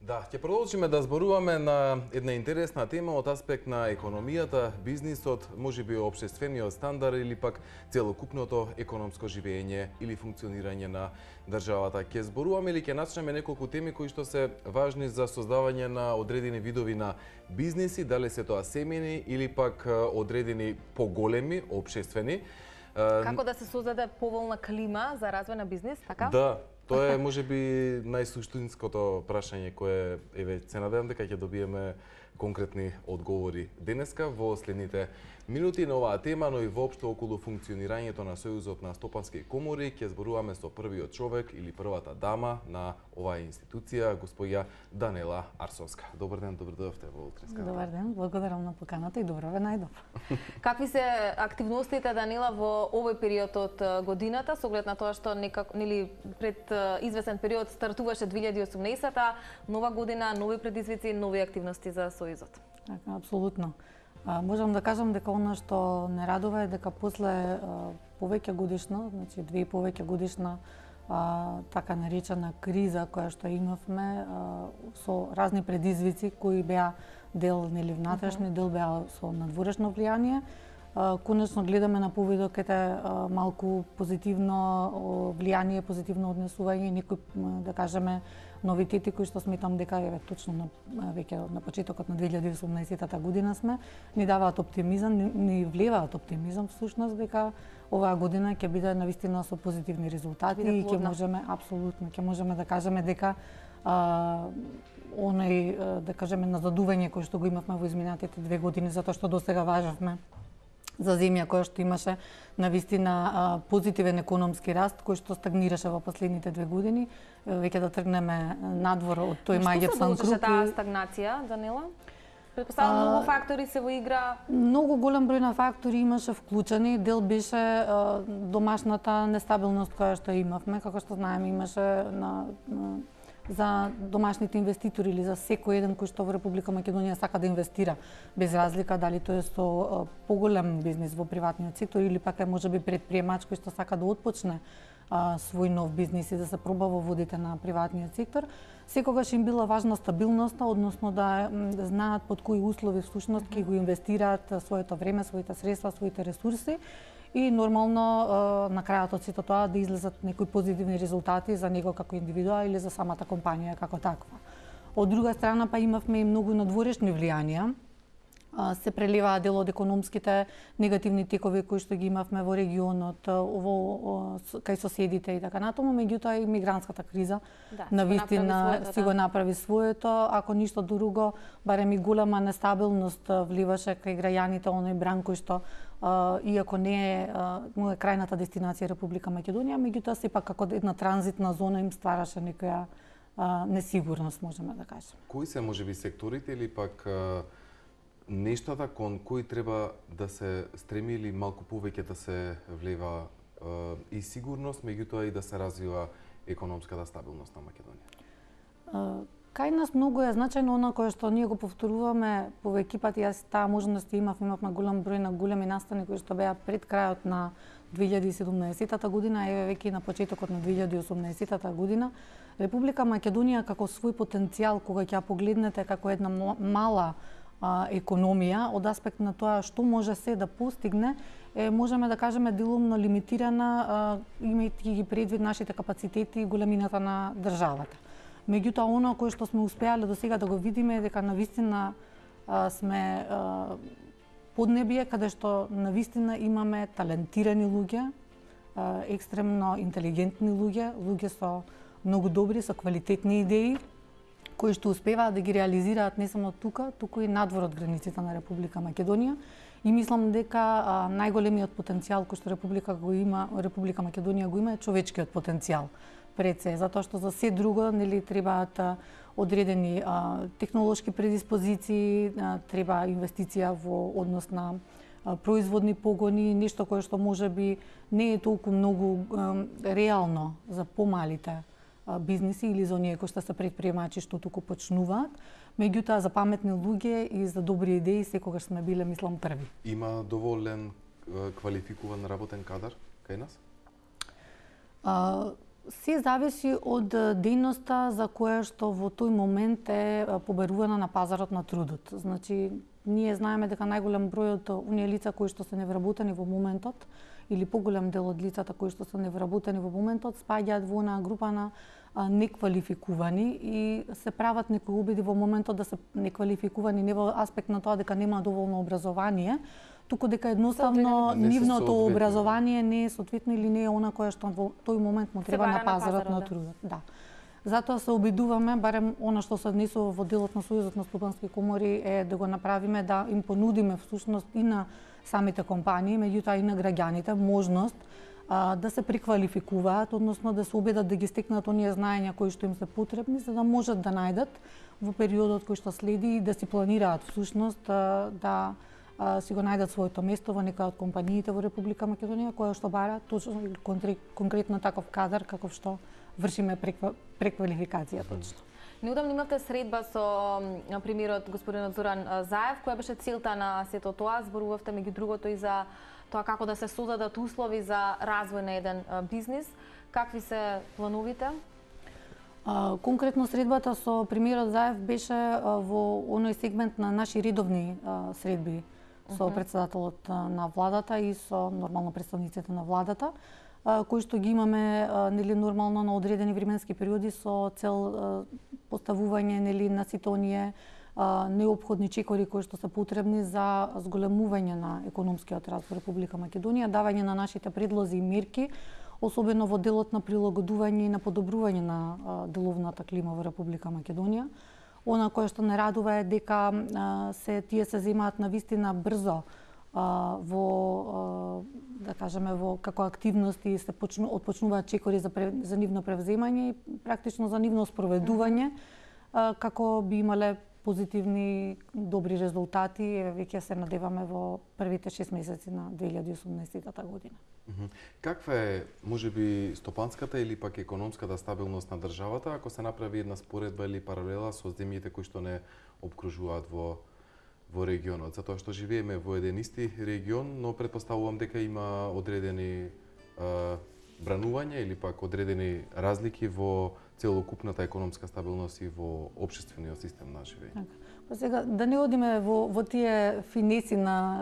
Да, ќе продолжиме да зборуваме на една интересна тема од аспект на економијата, бизнисот, можеби општествениот стандард или пак целокупното економско живење или функционирање на државата. Ќе зборуваме или ќе начнеме неколку теми кои што се важни за создавање на одредени видови на бизниси, дали се тоа семејни или пак одредени поголеми, општествени. Како да се создаде поволна клима за развој на бизнис, така? Да. Тоа е можеби најсуштинското прашање кое еве се надевам дека ќе добиеме конкретни одговори денеска во следните минути на оваа тема, но и воопшто околу функционирањето на Сојузот на стопански комори. Ќе зборуваме со првиот човек или првата дама на оваа институција, госпоѓа Данела Арсонска. Добар ден, добро дојдовте во Утринска. Добар ден, благодарам на поканата и добро ве најдов. Какви се активностите, Данила, во овој период од годината, со оглед на тоа што нели пред извесен период стартуваше 2018-та, нова година, нови предизвици, нови активности за Сојузот? Така, апсолутно. Можам да кажам дека она што не радува е дека после повеќе годишна, значи 2 и повеќе годишна така наречена криза која што имавме со разни предизвици кои беа дел нели внатрешни, дел беа со надворешно влијание, конечно гледаме на повидок малку позитивно влијание, позитивно однесување, некои да кажеме новитети кои што сметам дека еве точно веќе на почетокот на 2018 година сме, ни даваат оптимизам, ни влеваат оптимизам всушност дека оваа година ќе биде навистина со позитивни резултати и ќе можеме апсолутно ќе можеме да кажеме дека оној да кажеме назадување кој што го имавме во изминатите 2 години затоа што досега важевме за земја која што имаше навистина позитивен економски раст кој што стагнираше во последните 2 години, веќе да тргнеме надвор од тој мајгепсан круг. Што се таа стагнација, Данила? Претпоставувам многу фактори се во игра. Многу голем број на фактори имаше вклучени, дел беше домашната нестабилност која што имавме, како што знаеме имаше за домашните инвеститори или за секој еден кој што во Република Македонија сака да инвестира, без разлика дали тоа е со поголем бизнис во приватниот сектор или пак е можеби предприемач кој што сака да отпочне свој нов бизнис и да се проба во водите на приватниот сектор. Секогаш им била важна стабилноста, односно да знаат под кои услови всушност ќе го инвестираат своето време, своите средства, своите ресурси и нормално на крајот од сето тоа да излезат некои позитивни резултати за него како индивидуа или за самата компанија како таква. Од друга страна па имавме и многу надворешни влијанија. Се преливаа дел од економските негативни текови кои што ги имавме во регионот, кај соседите и така натаму, меѓутоа и мигрантската криза навистина си го направи своето, ако ништо друго, барем и голема нестабилност вливаше кај граѓаните оној бран кој што иако не е крајната дестинација Република Македонија, меѓутоа сепак како една транзитна зона им ствараше некоја несигурност, можеме да кажеме. Кои се можеби секторите или пак нештата кон кои треба да се стреми или малку повеќе да се влева и сигурност, меѓутоа и да се развива економската стабилност на Македонија? Кај нас многу е значајно она кое што ние го повторуваме повеќе пати, јас таа можност имавме голем број на големи настани кои што беа пред крајот на 2017 година, еве веќе на почетокот на 2018 година. Република Македонија како свој потенцијал, кога ќе ја погледнете како една мала економија, од аспект на тоа што може се да постигне, можеме да кажеме делумно лимитирана, имајќи ги предвид нашите капацитети и големината на државата. Меѓутоа, оно кое што сме успеале до сега да го видиме е дека навистина сме поднебие каде што навистина имаме талентирани луѓе, екстремно интелигентни луѓе, луѓе со многу добри, со квалитетни идеи, кои што успеваат да ги реализираат не само тука, туку и надвор од границите на Република Македонија. И мислам дека најголемиот потенцијал кој што Република Македонија го има е човечкиот потенцијал пред се, затоа што за се друго нели требаат одредени технолошки предиспозиции, треба инвестиција во однос на производни погони, нешто кое што можеби не е толку многу реално за помалите бизниси или за оние кои што се предприемачи што туку почнуваат, меѓутоа за паметни луѓе и за добри идеи секогаш сме биле, мислам, први. Има доволен квалификуван работен кадар кај нас? Се зависи од дејноста за која што во тој момент е побарувана на пазарот на трудот. Значи, ние знаеме дека најголем број од оние лица кои што се невработени во моментот или поголем дел од лицата кои што се невработени во моментот спаѓаат во онаа група на неквалификувани и се прават некои обиди во моментот да се неквалификувани не во аспект на тоа дека нема доволно образование, туку дека едноставно нивното образование не е соодветно или не е она кое што во тој момент му треба на пазарот на трудот. Да. Затоа се обидуваме, барем она што се однесува во делот на Сојузот на стопански комори е да го направиме, да им понудиме всушност и на самите компании, меѓутоа и на граѓаните можност да се преквалификуваат, односно да се обидат да ги стекнат оние знаења кои што им се потребни, за да можат да најдат во периодот кој што следи и да си планираат всушност да си го најдат своето место во некоја од компаниите во Република Македонија која што бара точно конкретно таков кадар каков што вршиме преквалификација точно. Неодамно имавте средба со премиерот господинот Зоран Заев, која беше целта на сето тоа, зборувавте меѓу другото и за тоа како да се создадат услови за развој на еден бизнис. Какви се плановите? Конкретно средбата со премиерот Заев беше во оној сегмент на наши редовни средби со председателот на владата и со нормално представниците на владата, кои што ги имаме нели нормално на одредени временски периоди со цел поставување нели на сите оние неопходни чекори кои што се потребни за зголемување на економскиот раст во Република Македонија, давање на нашите предлози и мерки, особено во делот на прилагодување и на подобрување на деловната клима во Република Македонија. Она кое што не радува е дека тие се земаат навистина брзо во да кажеме во како активности се отпочнуваат чекори за нивно превземање и практично за нивно спроведување како би имале позитивни добри резултати, веќе се надеваме во првите 6 месеци на 2018 година. Каква е можеби стопанската или пак економската стабилност на државата ако се направи една споредба или паралела со земјите кои што не обкружуваат во регионот, затоа што живееме во еден исти регион, но претпоставувам дека има одредени бранувања или пак одредени разлики во целокупната економска стабилност и во општествениот систем на живење. Па сега да не одиме во тие финеси на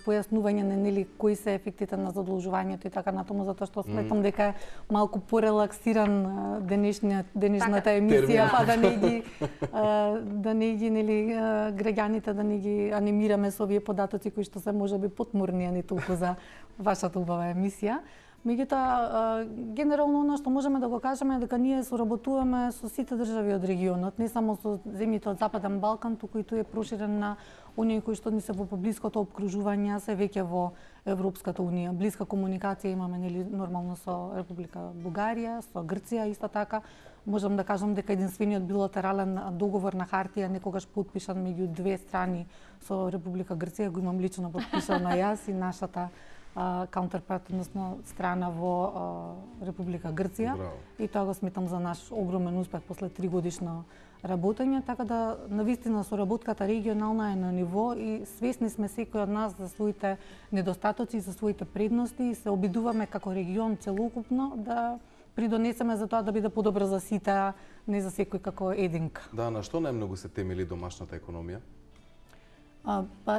појаснување на нели кои се ефектите на задолжувањето и така натаму, затоа што сметам дека е малку порелаксиран денешната емисија, па да не ги нели граѓаните да не ги анимираме со овие податоци кои што се можеби потморни, а не толку за вашата убава емисија. Меѓутоа, генерално она што можеме да го кажеме е дека ние соработуваме со сите држави од регионот, не само со земјите од Западен Балкан, туку и тој е проширен на оние кои што ни се во поблиското опкружување, се веќе во Европската унија. Блиска комуникација имаме нели нормално со Република Бугарија, со Грција исто така. Можам да кажам дека единствениот билатерален договор на хартија некогаш потпишан меѓу две страни со Република Грција го имам лично потпишано јас и нашата counterpart, односно страна во Република Грција. Браво. И тоа го сметам за наш огромен успех после 3 годишно работење, така да навистина соработката регионална е на ниво и свесни сме секој од нас за своите недостатоци, за своите предности и се обидуваме како регион целокупно да придонесеме за тоа да биде подобро за сите, не за секој како единка. Да, на што најмногу се темели домашната економија?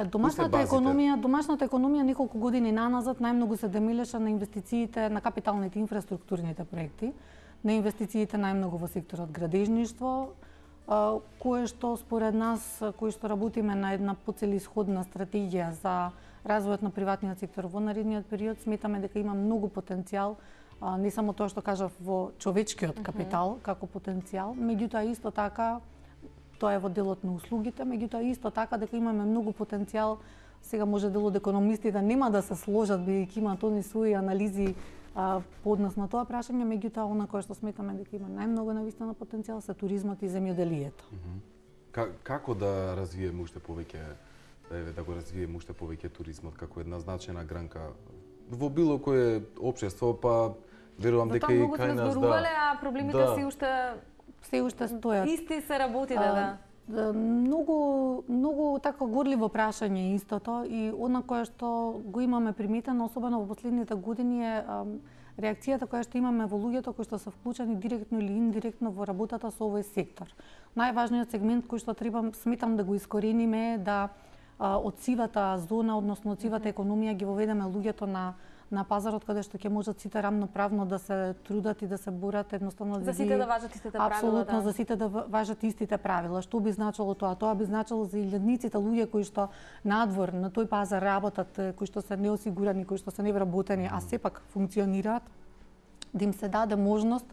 Домашната економија неколку години наназад најмногу се демилеше на инвестициите, на капиталните инфраструктурните проекти, на инвестициите најмногу во секторот градежништво, кое што според нас, кои што работиме на една поцелисходна стратегија за развојот на приватниот сектор во наредниот период, сметаме дека има многу потенцијал, не само тоа што кажав во човечкиот капитал како потенцијал, меѓутоа исто така тоа е во делот на услугите, меѓутоа исто така дека имаме многу потенцијал. Сега може дел од економистите нема да се сложат бидејќи имаат они своји анализи по однос на тоа прашање, меѓутоа она кое што сметаме дека има најмногу навистина потенцијал се туризмот и земјоделието. Како да развиеме уште повеќе туризмот како една значајна гранка во било кое општество, па верувам дека и кај нас а проблемите си уште стојат. Исти се работи, да. Многу така горливо прашање истото и она кое што го имаме приметено, особено во последните години е реакцијата која што имаме во луѓето кои што се вклучени директно или индиректно во работата со овој сектор. Најважниот сегмент кој што сметам да го искорениме е да од сивата зона, односно од сивата економија ги воведеме луѓето на пазарот каде што ќе можат сите рамноправно да се трудат и да се борат едноставно за сите да важат истите правила. Апсолутно, за сите да важат истите правила. Што би значило тоа? Тоа би значило за илјадниците луѓе кои што надвор на тој пазар работат, кои што се неосигурани, кои што се невработени, а сепак функционираат, да им се даде можност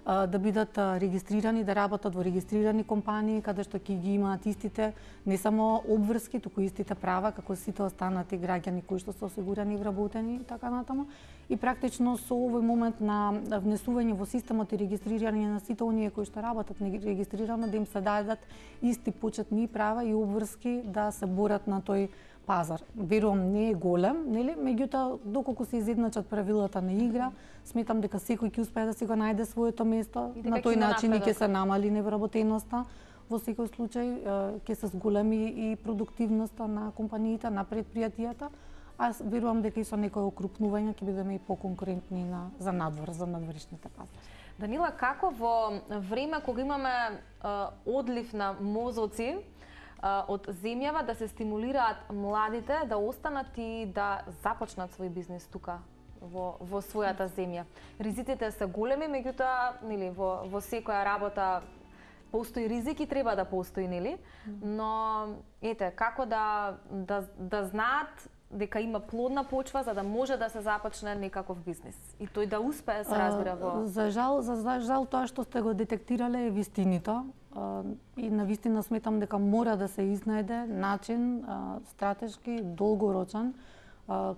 да бидат регистрирани, да работат во регистрирани компании, каде што ќе ги имаат истите не само обврски, туку истите права како сите останати граѓани кои што се осигурани и вработени и така натаму. И практично со овој момент на внесување во системот и регистрирање на сите оние кои што работат регистрирано, да им се дадат исти почетни права и обврски да се борат на тој пазар. Верувам не е голем, нели? Меѓутоа доколку се изедначат правилата на игра, сметам дека секој ќе успее да си го најде своето место, на тој начин и ќе се намали невработеноста. Во секој случај ќе се зголеми и продуктивноста на компаниите, на предпријатијата. Аз верувам дека и со некој окрупнување ќе бидеме и поконкурентни за надвор, за надворишните пазари. Данила, како во време кога имаме одлив на мозоци од земјава, да се стимулираат младите да останат и да започнат свој бизнес тука во својата земја. Ризиците се големи, меѓутоа, нели, во секоја работа постои ризик и треба да постои, нели? Но ете, како да знаат дека има плодна почва за да може да се започне некаков бизнес и тој да успее се разбира во... За жал тоа што сте го детектирале е вистинито и навистина сметам дека мора да се изнајде начин стратешки, долгорочен,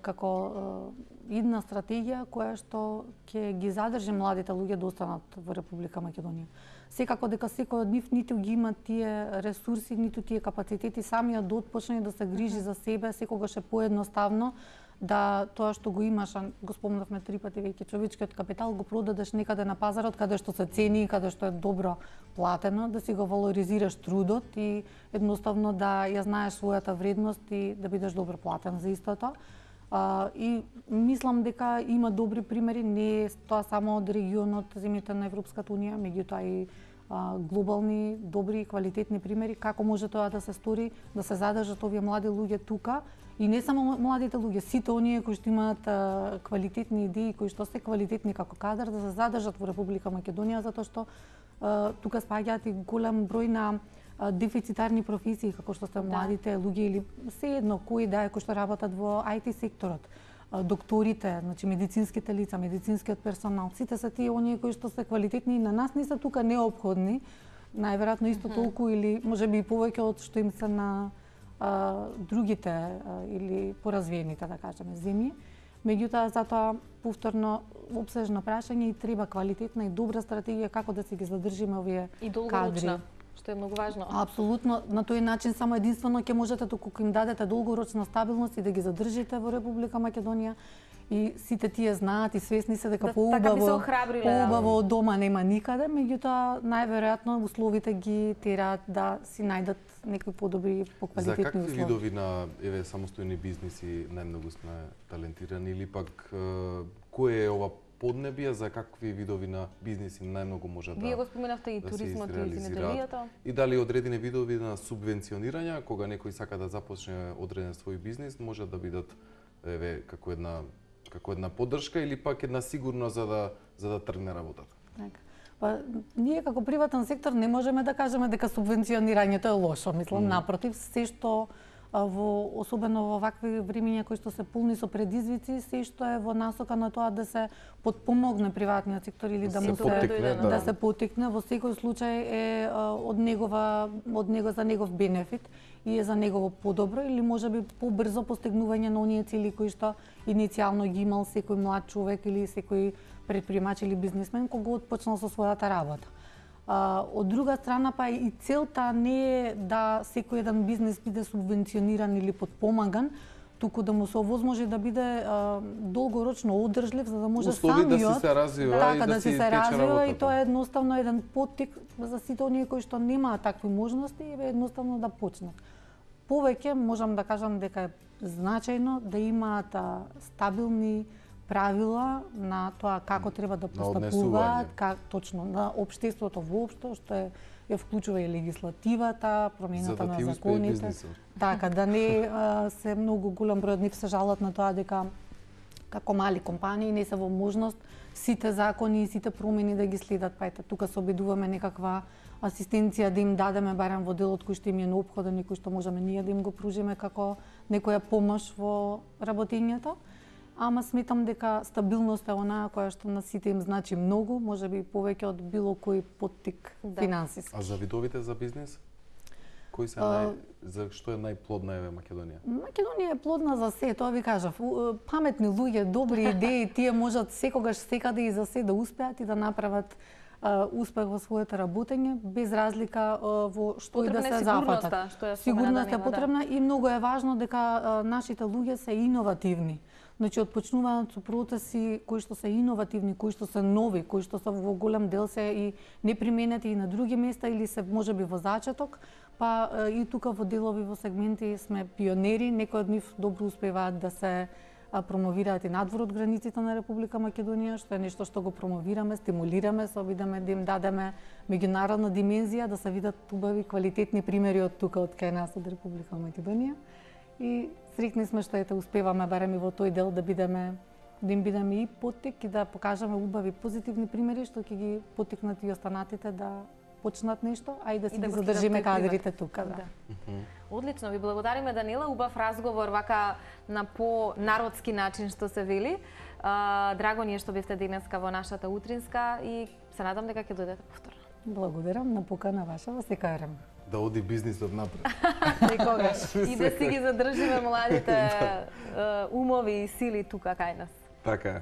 како една стратегија која што ќе ги задржи младите луѓе да останат во Република Македонија. Секако дека секој од нив ниту ги има тие ресурси, ниту тие капацитети самиот да отпочне да се грижи за себе, секогаш е поедноставно да тоа што го имаш, го спомнавме 3 пати веќе, човечкиот капитал го продадеш некаде на пазарот каде што се цени и каде што е добро платено, да си го валоризираш трудот и едноставно да ја знаеш својата вредност и да бидеш добро платен за истото. И мислам дека има добри примери, не е тоа само од регионот, земјите на Европската Унија, меѓутоа и глобални, добри, квалитетни примери, како може тоа да се стори, да се задржат овие млади луѓе тука, и не само младите луѓе, сите оние кои што имаат квалитетни идеи, кои што се квалитетни како кадар, да се задржат во Република Македонија, затоа што тука спаѓаат и голем број на дефицитарни професии, како што се младите луѓе или се едно кои да е кои што работат во IT секторот, докторите, значи медицинските лица, медицинскиот персонал, сите се тие оние кои што се квалитетни и на нас не се тука неопходни, најверојатно исто толку или можеби и повеќе од што им се на другите или поразвиените, да кажеме, земји. Меѓутоа, затоа повторно опсежно прашање и треба квалитетна и добра стратегија како да си ги задржиме овие кадри. И долгорочна, што е многу важно. Апсолутно, на тој начин само единствено ќе можете доколку им дадете долгорочна стабилност и да ги задржите во Република Македонија. И сите тие знаат и свесни се дека поубаво од дома нема никаде, меѓутоа најверојатно условите ги тераат да си најдат некои подобри, поквалитетни услови. За какви видови на самостојни бизниси најмногу сме талентирани или пак кој е ова поднебие, за какви видови на бизниси најмногу може Вие го споменавте и туризмот и земјоделието. И дали одредени видови на субвенционирање, кога некој сака да започне одреден свој бизнис, може да бидат како една поддршка или пак една сигурност за да тргне работата. Така. Па ние како приватен сектор не можеме да кажеме дека субвенционирањето е лошо, мислам напротив, се што особено во вакви времиња кои што се полни со предизвици, се што е во насока на тоа да се подпомогне приватниот сектор или да му се потикне, во секој случај е за негов бенефит и е за негово подобро или можеби побрзо постигнување на оние цели кои што иницијално ги имал секој млад човек или секој предприемач или бизнисмен кога отпочнал со својата работа. Од друга страна, па и целта не е да секој еден бизнес биде субвенциониран или подпомаган, туку да му се овозможи да биде долгорочно одржлив, за да може услови самиот да се развива така, и да си се тече развива, работата. и тоа е едноставно еден поттик за сите оние кои што немаат такви можности, едноставно да почнат. Повеќе можам да кажам дека е значајно да имаат стабилни правила на тоа како треба да постапуваат, точно на општеството воопшто, што ја вклучува и легислативата, промената на законите. Така, да не се многу голем број од нив се жалат на тоа дека како мали компании не се во можност сите закони и сите промени да ги следат. Па ете, тука се обидуваме некаква асистенција да им дадеме барем во делот кој што им е неопходен и кој што можеме ние да им го пружиме како некоја помош во работењето. Ама сметам дека стабилност е онаа која што на сите им значи многу, можеби повеќе од било кој поттик финансиски. А за видовите за бизнис? Кои се за што е најплодна еве Македонија? Македонија е плодна за се, тоа ви кажав. Паметни луѓе, добри идеи, тие можат секогаш секаде и за се да успеат и да направат успех во своето работење, без разлика во што и да се зафатат. Сигурноста е потребна и многу е важно дека нашите луѓе се иновативни. Значи, отпочнуваат со процеси кои што се иновативни, кои што се нови, кои што се во голем дел се и неприменети и на други места или се можеби во зачеток, па и тука во делови, во сегменти сме пионери, некои од нив добро успеваат да се промовираат и надвор од границите на Република Македонија, што е нешто што го промовираме, стимулираме, се обидаме да им дадеме меѓународна димензија, да се видат убави квалитетни примери од тука, од кај нас, од Република Македонија. И среќни сме што ете успеваме барем и во тој дел да им бидеме и поттик и да покажеме убави позитивни примери што ќе ги поттикнат и останатите да почнат нешто, а и да си ги задржиме кадрите тука. Да. Одлично, ви благодариме Данила, убав разговор вака на по-народски начин што се вели. Драго ни е што бевте денеска во нашата утринска и се надам дека ќе дојдете повторно. Благодарам на покана ваша во секој време. Да оди бизнисот напред. Секогаш. И да си ги задржиме младите умови и сили тука кај нас. Така.